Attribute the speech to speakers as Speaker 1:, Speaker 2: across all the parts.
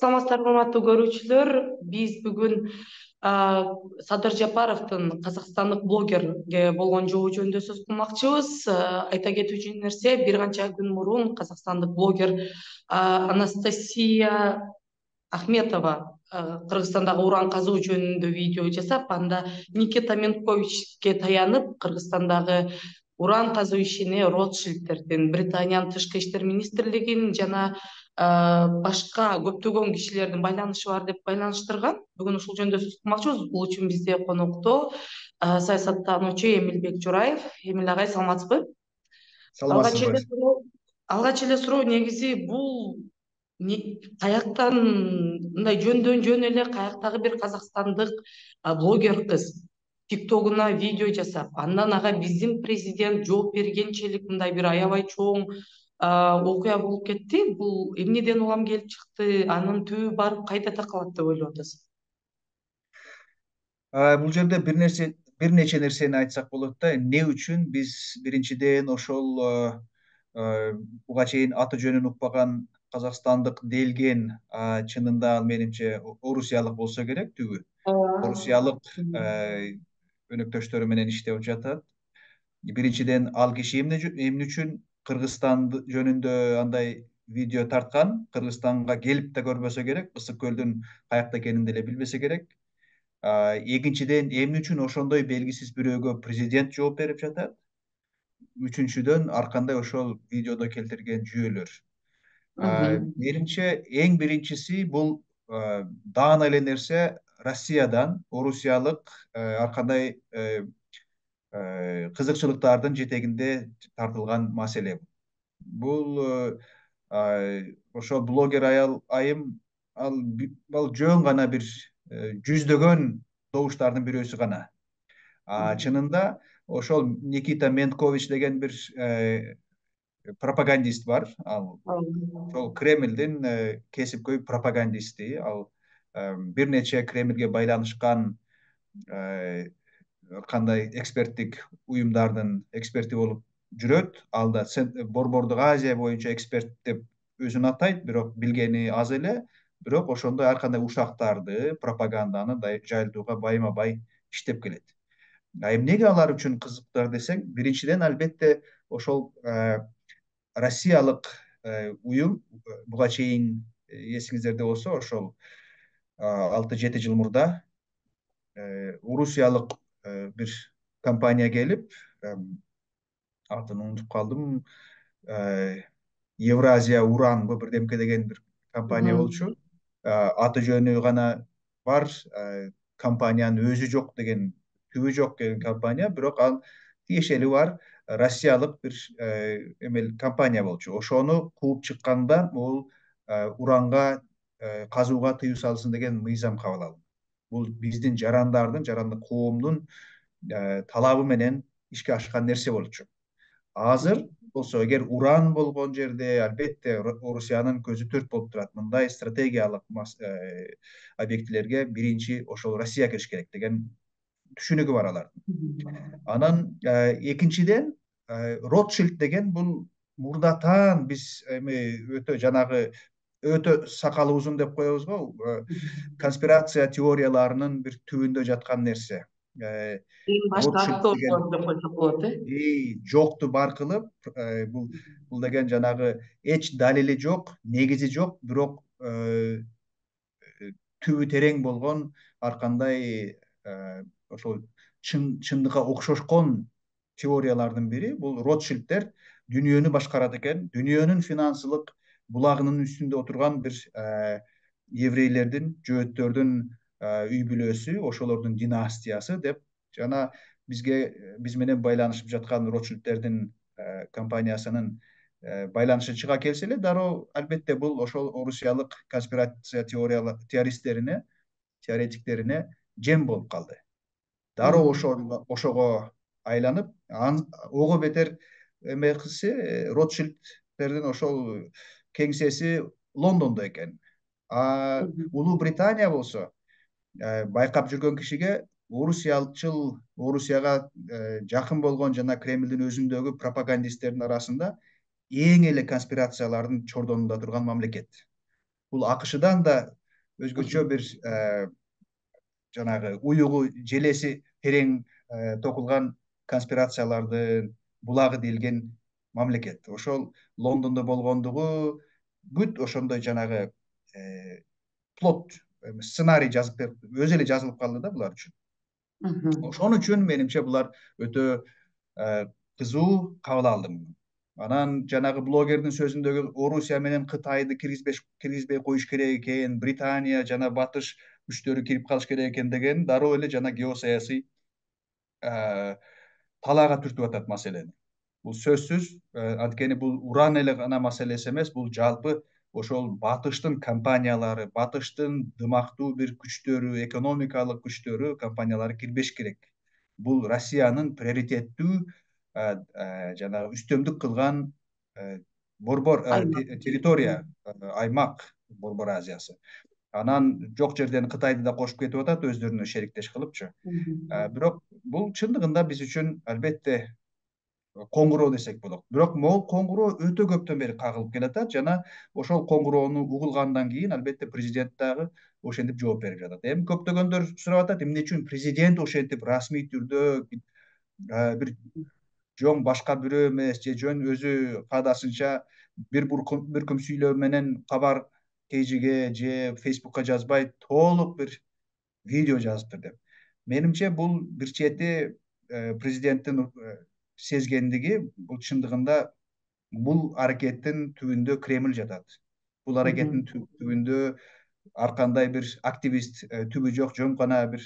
Speaker 1: Саламатсыздарбы, урматтуу көрүүчүлөр. Биз бүгүн Садыр Жапаровдун казакстандык блогерге болгон жобу жөнүндө сөз кылмакчыбыз. Айта кетүүчү нерсе, бир канча күн мурун казакстандык блогер Анастасия Ахметова Кыргызстандагы уран казуу жөнүндө видео жасап, анда Никита Менковичке таянып, Кыргызстандагы уран казуу ишине Ротшильдтердин, Британиянын тышкы иштер министрлигинин жана башка көптөгөн кишилердин байланышы бар деп байланыштырган. Бүгүн ушул жөнүндө сөз кылмакчыбыз. Бул үчүн бизде конокто саясаттануучу Эмилбек Жураев. Эмил агай, саламатсызбы?
Speaker 2: Саламатсызбы.
Speaker 1: Алгач эле суроо негизи бул каяктан, мындай жөндөн жөн эле каяктагы бир казакстандык блогер кыз тиктогуна видео жасап, андан ага биздин президент жооп бергенчелик мындай бир аябай чоң окуя болуп кетти. Бул эмнеден улам келип чыкты? Анын түбү барып кайда такалат деп ойлоп атасыз?
Speaker 2: Бул жерде бир нече нерсени айтсак болот да. Эмне үчүн биз биринчиден ошол буга чейин аты жөнүн укпаган казакстандык делген, чынында ал менимче орусиялык болсо керек түбү. Орусиялык өнөктөштөрү менен иштеп жатат. Биринчиден ал киши эмне үчүн Кыргызстан жөнүндө андай видео тарткан, Кыргызстанга келип да көрбөсө керек, Ысык көлдүн каякта экенин деле билбесе керек. Экинчиден, эмне үчүн ошондой белгисиз бирөөгө президент жооп берип жатат. Үчүнчүдөн, ар кандай ошол видеодо келтирген жүйөлөр. Менимче эң биринчиси бул даана эле нерсе Россиядан орусиялык ар кандай кызыкчылыктардын жетегинде тартылган маселе. Бул ошо блогер айым ал жөн гана бир жүздөгөн добуштардын бирөөсү гана. Чынында ошол Никита Менкович деген бир пропагандист бар. Ошол Кремлдин кесипкөй пропагандисти. Ал бир нече Кремлге байланышкан кандай эксперттик уюмдардын эксперти болуп жүрөт. Ал да Борбордук Азия боюнча эксперт деп өзүн атайт, бирок билгени аз эле. Бирок ошондой ар кандай ушактарды, пропаганданы жайылтууга байма бай иштеп келет. Эмнеге алар үчүн кызыктар десең, биринчиден албетте ошол Россиялык уюм буга чейин эсиңиздерде болсо, ошол 6-7 жыл мурда орусиялык бир компания келип, атын унутуп калдым, Евразия уранбы бирдемке деген бир компания болчу. Аты жөнү гана бар, компаниянын өзү жок деген, түбү жок деген компания, бирок ал тиешелүү бар Россиялык бир эмел компания болчу. Ошону кууп чыкканда бул уранга казууга тыюу салсын деген мыйзам кабыл алынды. Бул биздин жарандык коомдун талабы менен ишке ашкан нерсе болчу. Азыр болсо, эгер уран болгон жерде албетте Орусиянын көзү төрт болуп турат. Мындай стратегиялык объектилерге биринчи ошол Россия кириш керек деген түшүнүгү бар алардын. Анан экинчиден, Ротшильд деген бул мурдатан биз өтө жанагы өтө сакалы узун деп коебуз го, конспирация теорияларынын бир түбүндө жаткан нерсе.
Speaker 1: Эң башкы актор деп койсок болот,
Speaker 2: жокту бар кылып, бул деген жанагы эч далили жок, негизи жок, бирок түбү терең болгон ар кандай ошол чындыкка окшошкон теориялардын бири бул Ротшильдтер дүйнөнү башкарат экен. Дүйнөнүн финансылык булагынын үстүндө отурган бир еврейлердин, жөөттөрдүн үй бүлөсү, ошолордун династиясы деп жана биз менен байланышып жаткан Ротшильдтердин компаниясынын байланышы чыга келсе эле, дароо албетте бул ошол орусиялык конспирация теоретиктерине жем болуп калды. Дароо ошого айланып, ого бетер эме кылсы, Ротшильдтердин ошол кеңсеси Лондондо экен. Улуу Британия болсо, байкап жүргөн кишиге Орусияга жакын болгон жана Кремлдин өзүндөгү пропагандисттердин арасында эң эле конспирациялардын чордонунда турган мамлекет. бул АКШдан да өзгөчө бир жанагы уюгу желеси терең токулган конспирациялардын булагы делген мамлекет. Ошол Лондондо болгондугу бүт ошондой жанагы плот сценарий жазып берип өзү эле жазылып калды да булар үчүн. Ошон үчүн менимче булар өтө кызуу кабыл алды муну. Анан жанагы блогердин сөзүндөгү Орусия менен Кытайды киргизбей коюш керек экен, Британия жана батыш күчтөрү кирип калыш керек экен деген дароо эле жана геосаясий талаага түртүп атат маселени. Бул сөзсүз анткени бул уран эле гана маселеси эмес, бул жалпы ошол батыштын компаниялары, батыштын дымактуу бир күчтөрү, экономикалык күчтөрү, компаниялары кирбеш керек. Бул Россиянын приоритеттүү жанагы үстөмдүк кылган борбор территория, аймак Борбор Азиясы. Анан жок жерден Кытайды да кошуп кетип атат өздөрүнө шериктеш кылыпчы. Бирок бул чындыгында биз үчүн албетте коңгуроо десек болот. Бирок могул коңгуроо өтө көптөн бери кагылып келатат жана ошол коңгуроону угулгандан кийин албетте президент дагы ошентип жооп берип жатат. Эми көптөгөндөр сурап атат, эмне үчүн президент ошентип расмий түрдө бир жөн башка бирөө эмес же жөн өзү каадасынча бир күм сүйлөө менен кабар пейжиге же Фейсбукка жазбай толук бир видео жазыптыр деп. Менимче бул бир чети президенттин сезгендиги, бул чындыгында бул аракеттин түбүндө Кремль жатат. Бул аракеттин түбүндө ар кандай бир активист түбү жок, жөн гана бир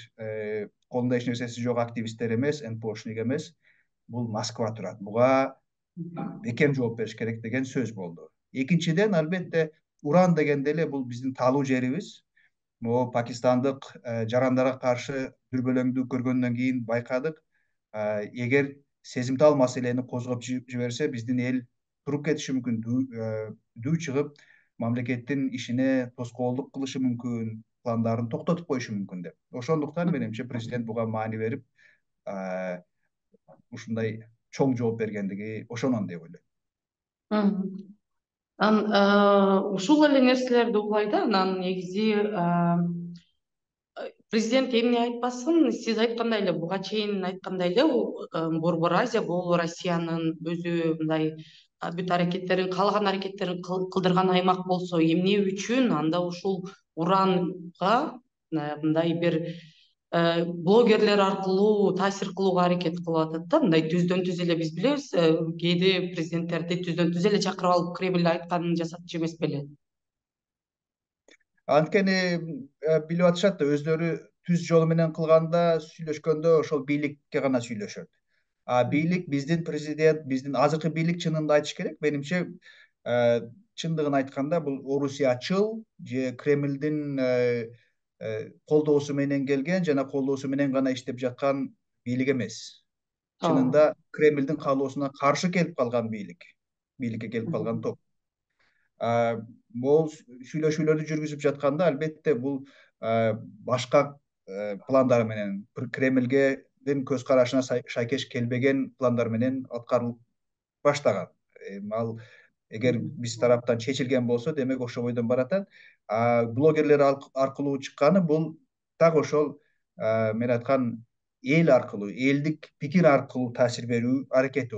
Speaker 2: колунда эч нерсеси жок активисттер эмес, НПОшник эмес, бул Москва турат. Буга бекем жооп бериш керек деген сөз болду. Экинчиден, албетте, уран дегенде эле бул биздин таалуу жерибиз. Могу пакистандык жарандарга каршы дүрбөлөңдү көргөндөн кийин байкадык, эгер сезимтал маселени козгоп жиберсе, биздин эл туруп кетиши мүмкүн, дүү чыгып, мамлекеттин ишине тоскоолдук кылышы мүмкүн, пландарын токтотуп коюшу мүмкүн деп. Ошондуктан менимче президент буга маани берип, ушундай чоң жооп бергендиги ошонон деп ойлойм.
Speaker 1: Анан ушул эле нерселерди угулай да, анан негизи президент эмне айтпасын, сиз айткандай эле, буга чейин айткандай эле, Борбор Азия бул Россиянын өзү мындай бүт аракеттерин, каалаган аракеттерин кылдырган аймак болсо, эмне үчүн анда ушул уранга мындай бир блогерлер аркылуу таасир кылууга аракет кылып атат да, мындай түздөн түз эле биз билебиз, кээде президенттерди түздөн түз эле чакырып алып Кремль айтканын жасатчу эмес беле.
Speaker 2: Анткени билип атышат да, өздөрү түз жолу менен кылганда, сүйлөшкөндө ошол бийликке гана сүйлөшөт. Бийлик, биздин президент, биздин азыркы бийлик чынында айтыш керек, менимче чындыгын айтканда бул орусиячыл же Кремлдин колдоосу менен келген жана колдоосу менен гана иштеп жаткан бийлик эмес. Чынында Кремлдин каалоосуна каршы келип калган бийликке келип калган топ. Могул сүйлөшүүлөрдү жүргүзүп жатканда, албетте, бул башка пландар менен, Кремлдин көз карашына шайкеш келбеген пландар менен аткарылып баштаган. Ал эгер биз тараптан чечилген болсо, демек ошол бойдон баратат. Блогерлер аркылуу чыкканы бул так ошол мен айткан эл аркылуу, элдик пикир аркылуу таасир берүү аракети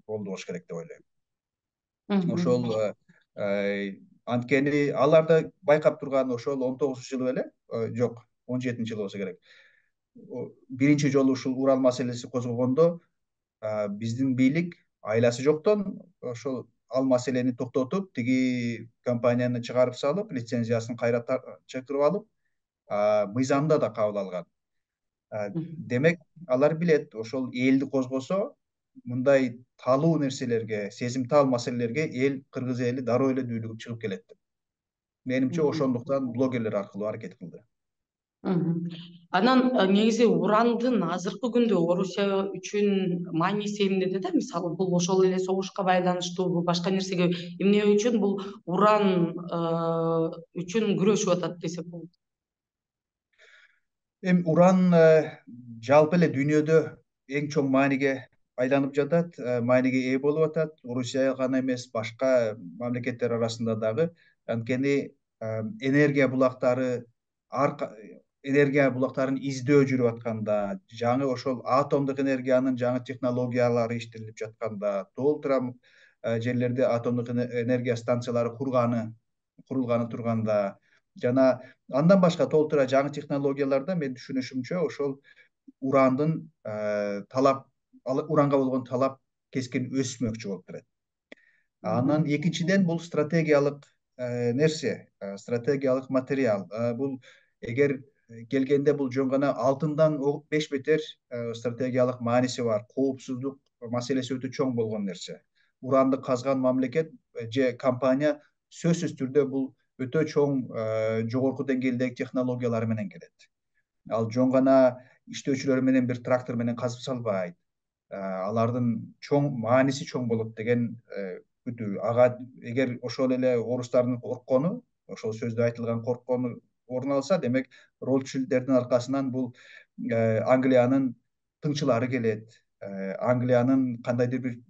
Speaker 2: болду болуш керек деп ойлойм. Ошол анткени алар да байкап турган ошол 19-жылы беле, жок, 17-жылы болсо керек. Биринчи жолу ушул уран маселеси козгогондо биздин бийлик айласы жоктон ошол ал маселени токтотуп, тиги компанияны чыгарып салып, лицензиясын кайра чакырып алып, мыйзамда да кабыл алган. Демек, алар билет, ошол элди козгосо, мындай талуу нерселерге, сезимтал маселелерге эл, кыргыз эли дароо эле дүүлүгүп чыгып келет деп. Менимче ошондуктан блогерлер аркылуу аракет кылды.
Speaker 1: Анан негизи урандын азыркы күндө Орусия үчүн мааниси эмнеде да? Мисалы, бул ошол эле согушка байланыштуубу, башка нерсеге, эмне үчүн бул уран үчүн күрөшүп атат десек болот?
Speaker 2: Эми уран жалпы эле дүйнөдө эң чоң мааниге айланып жатат, мааниге ээ болуп атат. Орусия гана эмес, башка мамлекеттер арасында дагы. Анткени энергия булактары энергия булактарын издөө жүрүп атканда, жаңы ошол атомдук энергиянын жаңы технологиялары иштелип жатканда, толтура жерлерде атомдук энергия станциялары курулганы турганда жана андан башка толтура жаңы технологияларда мен түшүнүшүмчө ошол урандын уранга болгон талап кескин өсмөкчү болуп турат. Анан экинчиден бул стратегиялык нерсе, стратегиялык материал. Бул эгер келгенде бул жөн гана алтындан 5 бетер стратегиялык мааниси бар. Коопсуздук маселеси өтө чоң болгон нерсе. Уранды казган мамлекет же компания сөзсүз түрдө бул өтө чоң жогорку деңгээлдеги технологиялар менен келет. Ал жөн гана иштөөчүлөр менен бир трактор менен казып салбайт. Алардын мааниси чоң болот деген күтүү. Ага эгер ошол эле орустардын корккону, ошол сөздө айтылган корккону орун алса, демек Ротшильдтердин аркасынан бул Англиянын тыңчылары келет. Англиянын кандайдыр бир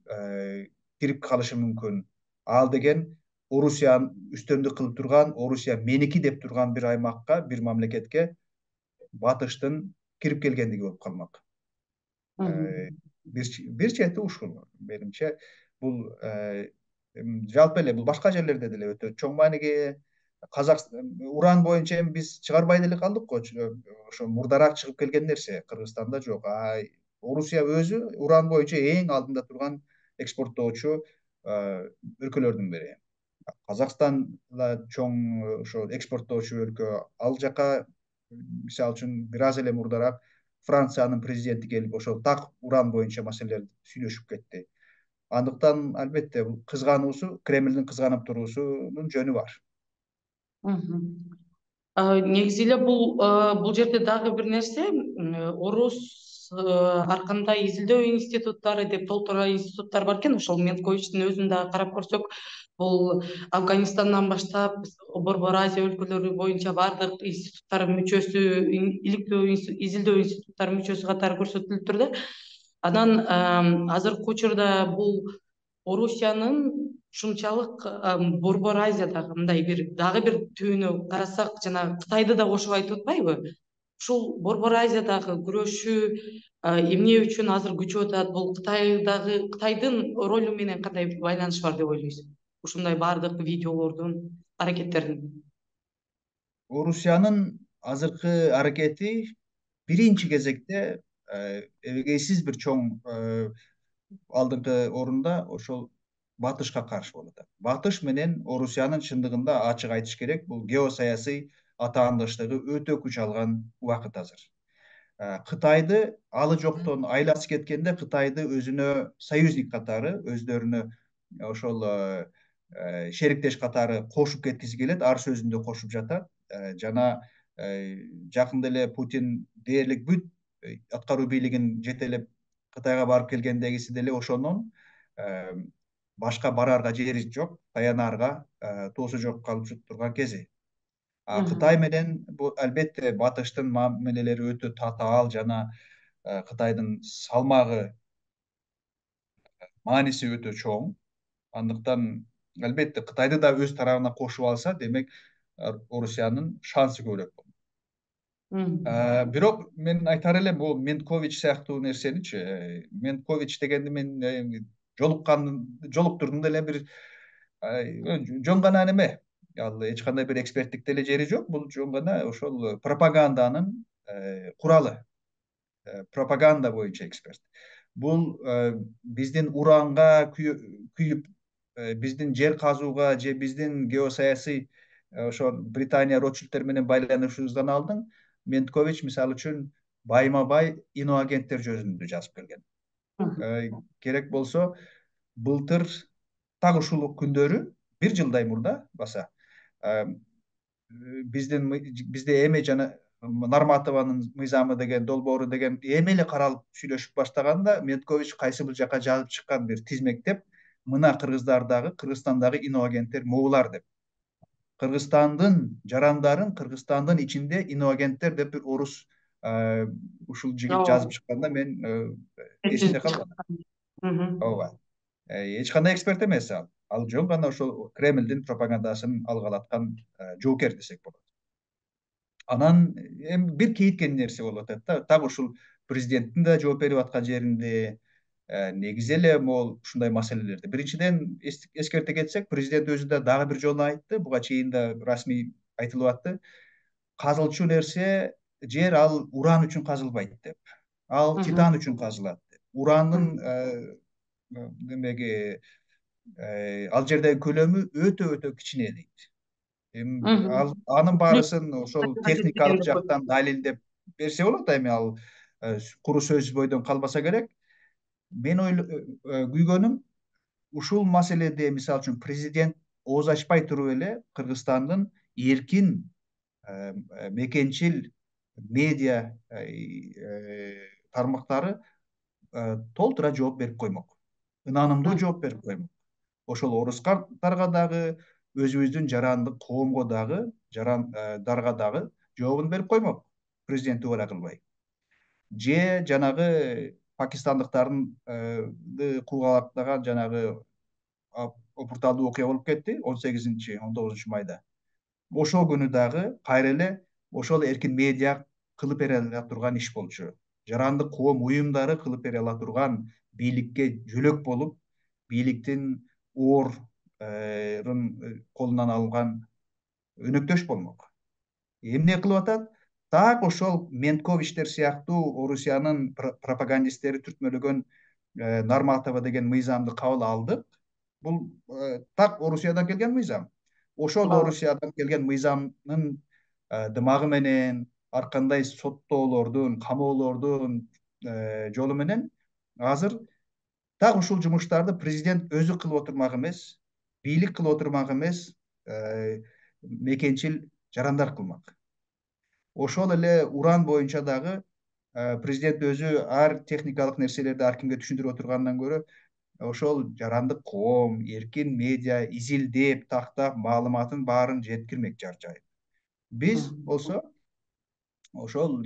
Speaker 2: кирип калышы мүмкүн. Ал деген Орусиянын үстөмдүк кылып турган, Орусия меники деп турган бир аймакка, бир мамлекетке батыштын кирип келгендиги болуп калмак. Бир чети ушул менимче. Бул жалпы эле бул башка жерлерде деле өтө чоң мааниге. Уран боюнча эми биз чыгарбай деле калдык го, ошо мурдараак чыгып келген нерсе. Кыргызстанда жок. Орусия өзү уран боюнча эң алдында турган экспорттоочу өлкөлөрдүн бири. Казакстан да чоң ошо экспорттоочу өлкө. Ал жака мисалы үчүн бир аз эле мурдараак Франциянын президенти келип ошол так уран боюнча маселелерди сүйлөшүп кетти. Андыктан албетте бул кызгануусу, Кремлдин кызганып туруусунун жөнү бар.
Speaker 1: Негизи эле бул жерде дагы бир нерсе, орус ар кандай изилдөө институттары деп толтура институттар бар экен. Ошол Менковичтин өзүн дагы карап көрсөк, бул Афганистандан баштап Борбор Азия өлкөлөрү боюнча баардык институттар мүчөсү, иликтөө изилдөө институттары мүчөсү катары көрсөтүлүп турду. Анан азыркы учурда бул Орусиянын ушунчалык Борбор Азиядагы мындай дагы бир түбүнө карасак, жана Кытайды да кошуп айтып атпайбы? Ушул Борбор Азиядагы күрөшүү эмне үчүн азыр күчөп атат? Бул Кытайдын ролу менен кандай байланышы бар деп ойлойсуз? Ушундай баардык видеолордун, аракеттердин.
Speaker 2: Орусиянын азыркы аракети биринчи кезекте эбегейсиз бир чоң алдыңкы орунда ошол Батышка каршы болуп атат. Батыш менен Орусиянын чындыгында ачык айтыш керек, бул геосаясий атаандыштыгы өтө күч алган убакыт азыр. Кытайды алы жоктон айласы кеткенде Кытайды өзүнө союзник катары, өздөрүнө ошол шериктеш катары кошуп кеткиси келет, ар сөзүндө кошуп жатат. Жана жакында эле Путин дээрлик бүт аткаруу бийлигин жетелеп Кытайга барып келгендегиси деле ошонун башка бараарга жери жок, таянаарга тоосу жок калып турган кези. Кытай менен бул албетте Батыштын мамилелери өтө татаал жана Кытайдын салмагы, мааниси өтө чоң. Андыктан албетте Кытайды да өз тарабына кошуп алса, демек Орусиянын шансы көбүрөөк болот. Бирок мен айтар элем, бул Менкович сыяктуу нерсеничи, Менкович дегенди мен жолуктурдум деле, бир жөн гана неме, ал эч кандай бир эксперттик деле жери жок. Бул жөн гана ошол пропаганданын куралы, пропаганда боюнча эксперт. Бул биздин уранга күйүп, биздин жер казууга же биздин геосаясий ошол Британия Ротшильдтер менен байланышыбыздан алдын Менкович мисалы үчүн байма бай иноагенттер жөнүндө жазып келген. Керек болсо былтыр так ушул күндөрү, бир жылдай мурда баса, бизде эме жана Нарматованын мыйзамы деген, долбоору деген эми эле каралып сүйлөшүп баштаганда, Менкович кайсы бир жака жазып чыккан бир тизмектеп, мына Кыргызстандагы иноагенттер могулар деп. Кыргызстандын жарандарын Кыргызстандын ичинде иноагенттер деп бир орус ушул жигит жазып чыкканда мен эсимде калган. Ооба. Эч кандай эксперт эмес ал. ал жөн гана ошол Кремлдин пропагандасын алгалаткан жоокер десек болот. Анан эми бир кейиткен нерсе болуп атат да, так ушул президенттин да жооп берип аткан жеринде негизи эле могул ушундай маселелерди биринчиден эскерте кетсек, президент өзү да дагы бир жолу айтты, буга чейин да расмий айтылып атты, казылчу нерсе жер ал уран үчүн казылбайт деп, ал титан үчүн казылат деп. Урандын демеги ал жердеги көлөмү өтө өтө кичине дейт. Эми анын баарысын ошол техникалык жактан далилдеп берсе болот. Эми ал куру сөз бойдон калбаса керек. Мен күйгөнүм ушул маселеде мисалы үчүн президент ооз ачпай туруп эле Кыргызстандын эркин мекенчил медиа тармактары толтура жооп берип коймок, ынанымдуу жооп берип коймок. Ошол орустарга дагы, өзүбүздүн жарандык коомго дагы, жарандарга дагы жообун берип коймок, президент убада кылбай. Же жанагы пакистандыктарды куугалактаган жанагы опурталдуу окуя болуп кетти 18-19 майда. Ошол күнү дагы кайра эле ошол эркин медиа кылып бере ала турган иш болчу. Жарандык коом уюмдары кылып бере ала турган, бийликке жөлөк болуп, бийликтин орун колунан алган өнөктөш болмок. Эмне кылып атат? Так ошол Менковичтер сыяктуу Орусиянын пропагандисттери түртмөлөгөн Нарматова деген мыйзамды кабыл алдык. Бул так Орусиядан келген мыйзам. Ошол Орусиядан келген мыйзамдын дымагы менен, ар кандай соттоолордун, камоолордун жолу менен азыр так ушул жумуштарды президент өзү кылып отурмак эмес, бийлик кылып отурмак эмес, мекенчил жарандар кылмак. Ошол эле уран боюнча дагы президент өзү ар техникалык нерселерди ар кимге түшүндүрүп отургандан көрө ошол жарандык коом, эркин медиа изилдеп, тактап, маалыматын баарын жеткирмек жар жайып. Биз болсо ошол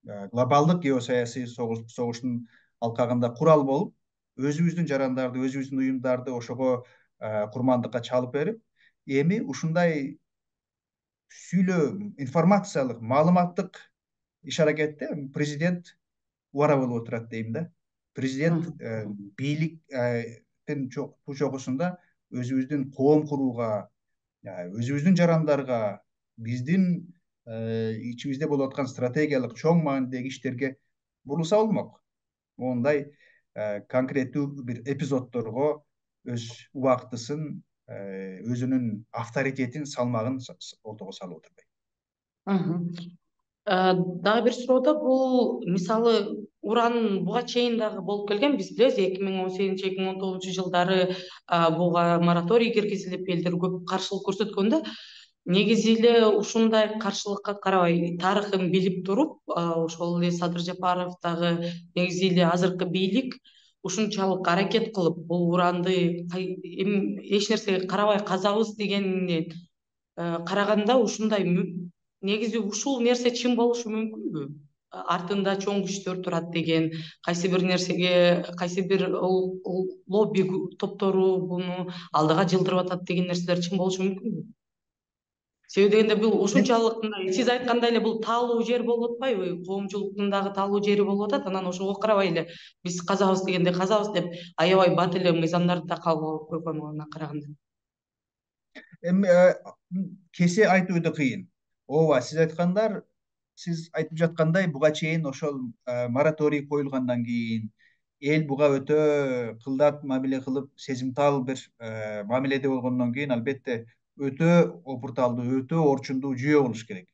Speaker 2: глобалдык геосаясий согуштун алкагында курал болуп, өзүбүздүн жарандарды, өзүбүздүн уюмдарды ошого курмандыкка чалып берип, эми ушундай сүйлөө, информациялык, маалыматтык иш аракетте президент убара болуп отурат дейм да. Президент бийликтин чогусунда өзүбүздүн коом курууга, өзүбүздүн жарандарга, биздин ичибизде болуп аткан стратегиялык чоң маанидеги иштерге бурулса болмок. Мондай конкреттүү бир эпизоддорго өз убактысын, өзүнүн авторитетин, салмагын ортого салып отурбайбы?
Speaker 1: Дагы бир суроодо бул мисалы уран буга чейин дагы болуп келген, биз билебиз 2018-2019 жылдары буга мораторий киргизилип, элдер көп каршылык көрсөткөндө, негизи эле ушундай каршылыкка карабай тарыхын билип туруп, ошол эле Садыр Жапаров дагы негизи эле азыркы бийлик ушунчалык аракет кылып, бул уранды эч нерсеге карабай казабыз дегенинен караганда ушундай негизи ушул нерсе чын болушу мүмкүнбү? Артында чоң күчтөр турат деген, кайсы бир нерсеге, кайсы бир лобби топтору буну алдыга жылдырып атат деген нерселер чын болушу мүмкүнбү? Себеби дегенде бул ушунчалык сиз айткандай эле бул таалуу жер болуп атпайбы? Коомчулуктун дагы таалуу жери болуп атат. Анан ошого карабай эле биз казабыз дегенде казабыз деп аябай бат эле мыйзамдарды да кабыл алып койгон она караганда.
Speaker 2: Эми кесе айтуу да кыйын. Ооба, сиз айтып жаткандай буга чейин ошол мораторий коюлгандан кийин эл буга өтө кылдат мамиле кылып, сезимтал бир мамиледе болгондон кийин албетте өтө опурталдуу, өтө орчундуу жүйө болуш керек.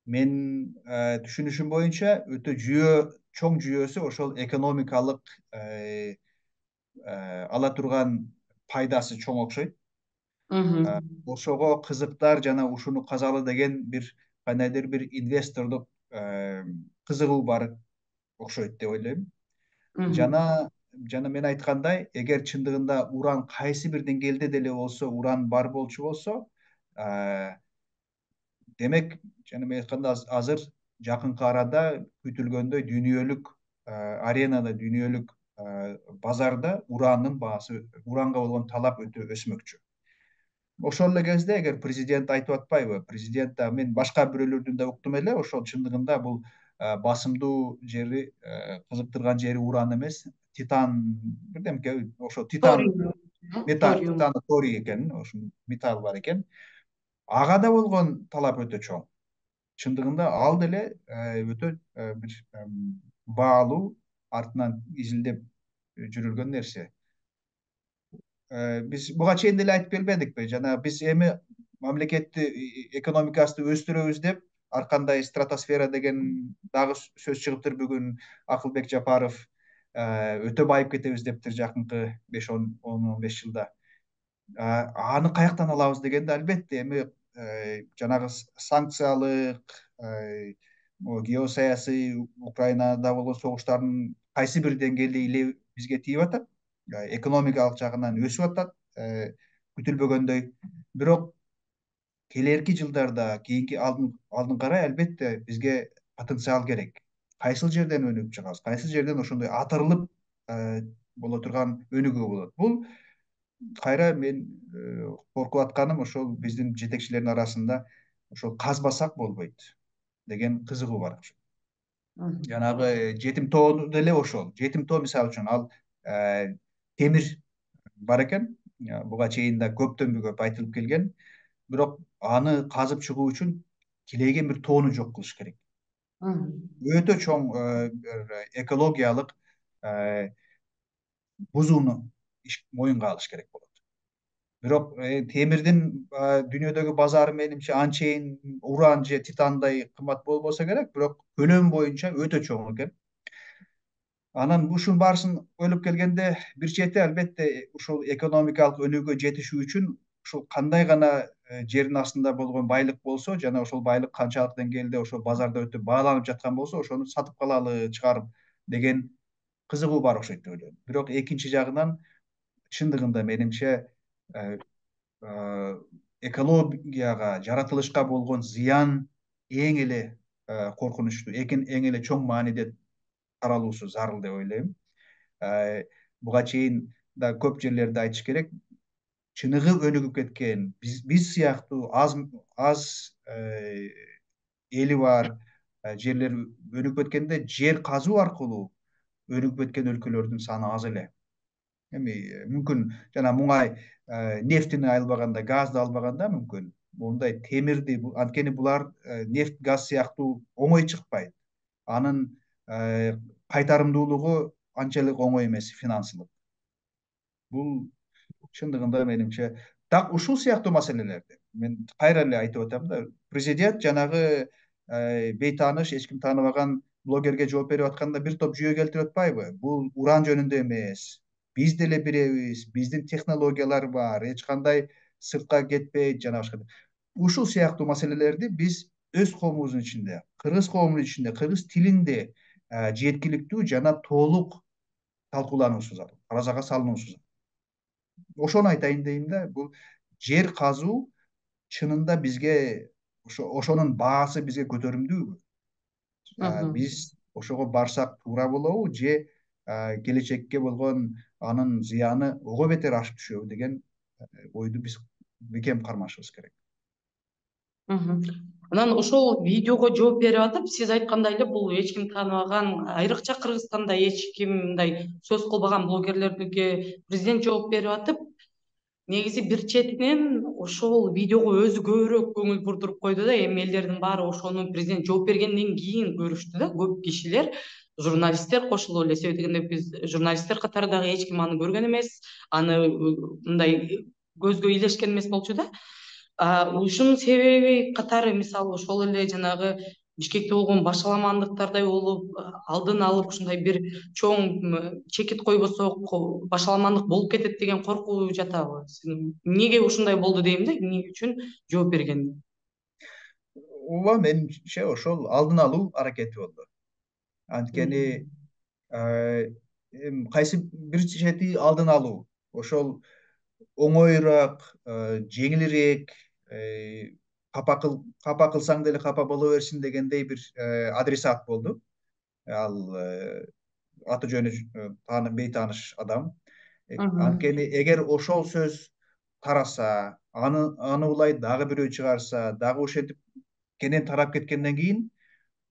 Speaker 2: Мен түшүнүшүм боюнча өтө чоң жүйөсү ошол экономикалык ала турган пайдасы чоң окшойт. Ошого кызыктар жана ушуну казалы деген бир кандайдыр бир инвестордук кызыгуу бар окшойт деп ойлойм. Жана мен айткандай, эгер чындыгында уран кайсы бир деңгээлде деле болсо уран бар болчу болсо, демек жана мен айткандай азыр жакынкы арада күтүлгөндөй дүйнөлүк аренада, дүйнөлүк базарда уранга болгон талап өтө өсмөкчү. Ошол эле кезде эгер президент айтып атпайбы, президент да мен башка бирөөлөрдүн да уктум эле, ошол чындыгында бул басымдуу жери, кызыктырган жери уран эмес, титан бирдемке, ошо титан
Speaker 1: Ториум,
Speaker 2: металл,
Speaker 1: ториум.
Speaker 2: титан торий экен, ошол металл бар экен. Ага да болгон талап өтө чоң. Чындыгында ал деле өтө бир баалуу, артынан изилдеп жүрүлгөн нерсе. Биз буга чейин деле айтып келбедикпи? Жана биз эми мамлекетти экономикасты өстүрөбүз деп ар кандай стратосфера деген дагы сөз чыгыптыр бүгүн. Акылбек Жапаров өтө байып кетебиз дептир жакынкы 5-10-15 жылда. Аны каяктан алабыз дегенде, албетте эми жанагы санкциялык, геосаясий, Украинада болгон согуштардын кайсы бир деңгээлде илеби бизге тийип атат, экономикалык жагынан өсүп атат күтүлбөгөндөй. Бирок келерки жылдарда, кийинки алдыңкары албетте бизге потенциал керек. Кайсыл жерден өнүгүп чыгабыз, кайсыл жерден ошондой атырылып боло турган өнүгүү болот. Бул кайра мен коркуп атканым ошол биздин жетекчилердин арасында ошол казбасак болбойт деген кызыгуу бар. Жанагы жетим тоо деле ошол. Жетим тоо мисалы үчүн ал темир бар экен. Буга чейин да көптөн көп айтылып келген. Бирок аны казып чыгуу үчүн килейген бир тоону жок кылыш керек. Өтө чоң экологиялык бузууну моюнга алыш керек болот. Бирок темирдин дүйнөдөгү базары менимче анчейин уран же титандай кымбат болбосо керек, бирок көлөм боюнча өтө чоң экен. Анан ушунун баарысын ойлоп келгенде, бир чети албетте ушул экономикалык өнүгүүгө жетишүү үчүн ушул кандай гана жердин астында болгон байлык болсо, жана ошол байлык канчалык деңгээлде ошол базарда өтө бааланып жаткан болсо, ошону сатып калалы, чыгарып деген кызыгуу бар окшойт деп ойлойм. Бирок экинчи жагынан чындыгында менимче экологияга, жаратылышка болгон зыян эң эле коркунучтуу, эң эле чоң мааниде таралуусу зарыл деп ойлойм. Буга чейин да көп жерлерде айтыш керек, чыныгы өнүгүп кеткен, биз сыяктуу аз эли бар жерлер өнүгүп кеткенде, жер казуу аркылуу өнүгүп кеткен өлкөлөрдүн саны аз эле. Эми мүмкүн жана муңай нефтини албаганда, газды албаганда мүмкүн мондай темирди, анткени булар нефть, газ сыяктуу оңой чыкпайт. Анын кайтарымдуулугу анчалык оңой эмес, финансылык. Бул чындыгында менимче так ушул сыяктуу маселелерди мен кайра эле айтып атам да, президент жанагы бейтааныш, эч ким тааныбаган блогерге жооп берип атканда бир топ жүйө келтирип атпайбы? Бул уран жөнүндө эмес, биз деле биребиз, биздин технологиялар бар, эч кандай сыртка кетпейт, жана башка. Ушул сыяктуу маселелерди биз өз коомубуздун ичинде, кыргыз коомунун ичинде, кыргыз тилинде жеткиликтүү жана толук талкуулануусу зарыл, таразага салынуусу зарыл. Ошону айтайын дейм да, бул жер казуу чынында бизге ошонун баасы бизге көтөрүмдүүбү? Биз ошого барсак туура болобу, же келечекке болгон анын зыяны ого бетер ашып түшөбү деген ойду биз бекем кармашыбыз керек.
Speaker 1: Анан ошол видеого жооп берип атып, сиз айткандай эле бул эч ким тааныбаган, айрыкча Кыргызстанда эч ким мындай сөз кылбаган блогерлерге президент жооп берип атып, негизи бир четинен ошол видеого өзү көбүрөөк көңүл бурдуруп койду да, эми элдердин баары ошону президент жооп бергенден кийин көрүштү да, көп кишилер, журналисттер кошулуп эле, себеп дегенде биз журналисттер катары дагы эч ким аны көргөн эмес, аны мындай көзгө илешкен эмес болчу да. Ушунун себеби катары мисалы ошол эле жанагы Бишкекте болгон башаламандыктардай болуп, алдын алып ушундай бир чоң чекит койбосок, башаламандык болуп кетет деген коркуу жатабы? Эмнеге ушундай болду дейм да, эмне үчүн жооп берген?
Speaker 2: Ооба, менимче ошол алдын алуу аракети болду. Анткени кайсы бир чети алдын алуу, ошол оңоюраак, жеңилирээк, капа кылсаң деле капа боло берсин дегендей бир адресат болду. Ал аты жөнү бейтааныш адам.
Speaker 1: Мгм.
Speaker 2: Анткени эгер ошол сөз тараса, аны улай дагы бирөө чыгарса, дагы ошентип кенен тарап кеткенден кийин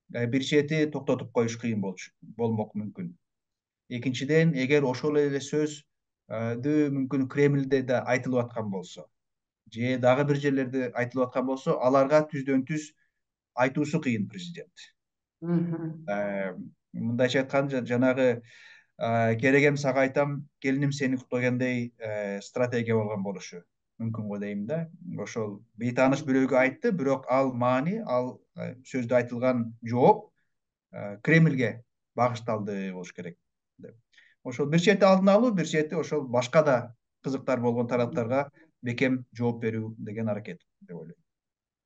Speaker 2: бир чети токтотуп коюш кыйын болмок мүмкүн. Экинчиден, эгер ошол эле сөз мүмкүн Кремльде да айтылып аткан болсо, же дагы бир жерлерде айтылып аткан болсо, аларга түздөн түз айтуусу кыйын президент.
Speaker 1: Мгм.
Speaker 2: Мындайча айтканда, жанагы керегем сага айтам, келиним сени уктагандай стратегия болгон болушу мүмкүн го дейм да. Ошол бейтааныш бирөөгө айтты, бирок ал маани, ал сөздө айтылган жооп Кремльге багышталды болуш керек деп. Ошол бир чети алдын алуу, бир чети ошол башка да кызыктар болгон тараптарга бекем жооп берүү деген аракет деп ойлойм.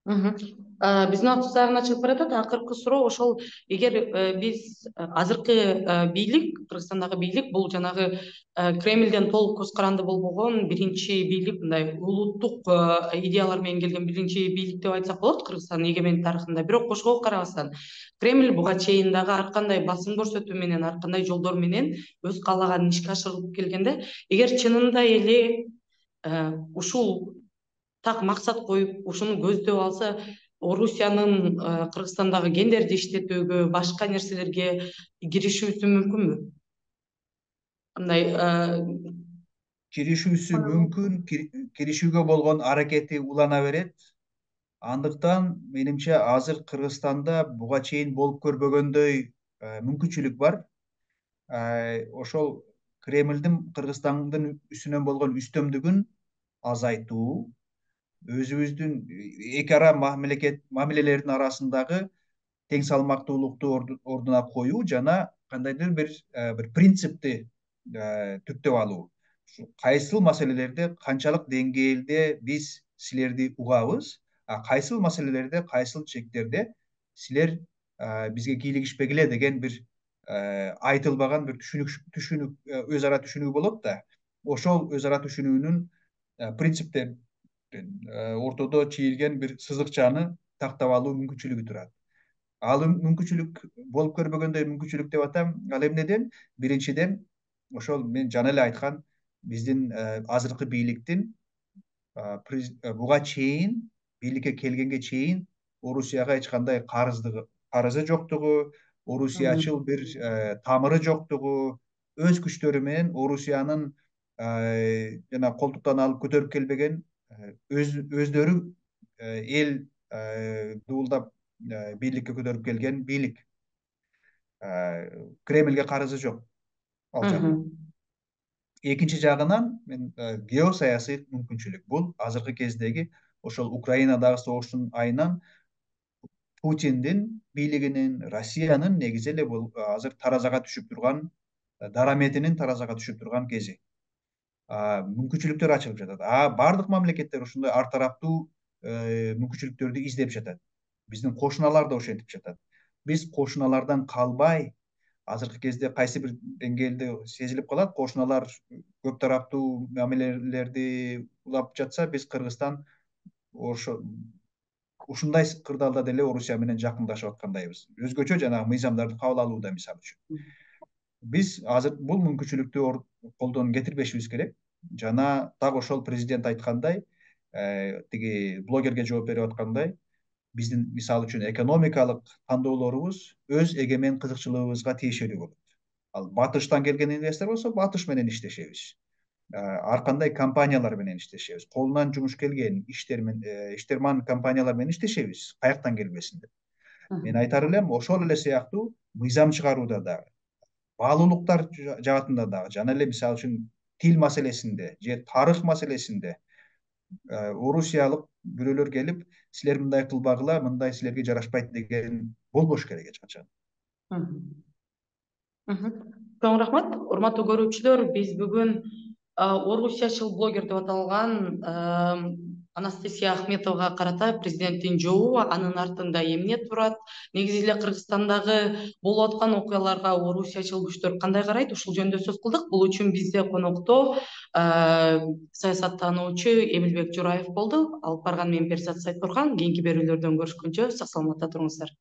Speaker 1: Биздин убактыбыз аягына чыгып баратат. Акыркы суроо ошол, эгер биз азыркы бийлик, Кыргызстандагы бийлик бул жанагы Кремльден толук көз каранды болбогон биринчи бийлик, мындай улуттук идеялар менен келген биринчи бийлик деп айтсак болот Кыргызстандын эгемендик тарыхында. Бирок ошого карабастан Кремль буга чейин дагы ар кандай басым көрсөтүү менен, ар кандай жолдор менен өз каалаганын ишке ашырып келгенде, эгер чынында эле ушул так максат коюп ушуну көздөп алса, Орусиянын Кыргызстандагы гендерди иштетүүгө, башка нерселерге киришүүсү мүмкүнбү? Мындай
Speaker 2: Киришүүсү мүмкүн, киришүүгө болгон аракети улана берет. Андыктан менимче азыр Кыргызстанда буга чейин болуп көрбөгөндөй мүмкүнчүлүк бар. Ошол Кремлдин Кыргызстандын үстүнөн болгон үстөмдүгүн азайтуу, өзүбүздүн эки ара мамилелердин арасындагы тең салмактуулукту ордуна коюу жана кандайдыр бир принципти түптөп алуу. Кайсыл маселелерде канчалык деңгээлде биз силерди угабыз, кайсыл маселелерде, кайсыл чектерде силер бизге кийлигишпегиле деген бир айтылбаган бир түшүнүк, өз ара түшүнүү болот да. Ошол өз ара түшүнүүнүн принциптерин ортодо чийилген бир сызыкчаны тактап алуу мүмкүнчүлүгү турат. Ал мүмкүнчүлүк болуп көрбөгөндөй мүмкүнчүлүк деп атам. Ал эмнеден? Биринчиден, ошол мен жана эле айткан биздин азыркы бийликтин буга чейин, бийликке келгенге чейин Орусияга эч кандай карызы жоктугу, орусиячыл бир тамыры жоктугу, өз күчтөрү менен Орусиянын жана колтуктан алып көтөрүп келбеген, өздөрү эл дуулдап бийликке көтөрүп келген бийлик. Кремльге карызы жок ал жактан. Экинчи жагынан мен геосаясий мүмкүнчүлүк. Бул азыркы кездеги ошол Украинадагы согуштун айынан Путиндин бийлигинин, Россиянын негизи эле бул азыр таразага түшүп турган, дараметинин таразага түшүп турган кези. Мүмкүнчүлүктөр ачылып жатат. Бардык мамлекеттер ушундай ар тараптуу мүмкүнчүлүктөрдү издеп жатат. Биздин кошуналар да ошентип жатат. Биз кошуналардан калбай, азыркы кезде кайсы бир деңгээлде сезилип калат, кошуналар көп тараптуу мамилелерди улап жатса, биз Кыргызстан ушундай кырдаалда деле Орусия менен жакындашып аткандайбыз. Өзгөчө жанагы мыйзамдарды кабыл алууда, мисалы үчүн. Биз азыр бул мүмкүнчүлүктү колдон кетирбешибиз керек. Жана так ошол президент айткандай, тиги блогерге жооп берип аткандай, биздин мисалы үчүн экономикалык тандоолорубуз өз эгемен кызыкчылыгыбызга тиешелүү болот. Ал батыштан келген инвестор болсо, батыш менен иштешебиз. Ар кандай компаниялар менен иштешебиз. Колунан жумуш келген иштерман компаниялар менен иштешебиз. Каяктан келбесин деп. Мен айтар элем, ошол эле сыяктуу мыйзам чыгарууда дагы, баалуулуктар жаатында дагы, жана эле мисалы үчүн тил маселесинде же тарых маселесинде орусиялык бирөөлөр келип, силер мындай кылбагыла, мындай силерге жарашпайт деген болбош керек эч качан.
Speaker 1: Чоң рахмат. Урматтуу көрүүчүлөр, биз бүгүн орусиячыл блогер деп аталган Анастасия Ахметовага карата президенттин жообу, анын артында эмне турат, негизи эле Кыргызстандагы болуп аткан окуяларга орусиячыл күчтөр кандай карайт, ушул жөнүндө сөз кылдык. Бул үчүн бизде конокто саясаттануучу Эмилбек Жураев болду. Алып барган мен Перизат Сайторхан. Кийинки берүүлөрдөн көрүшкөнчө сак саламатта туруңуздар.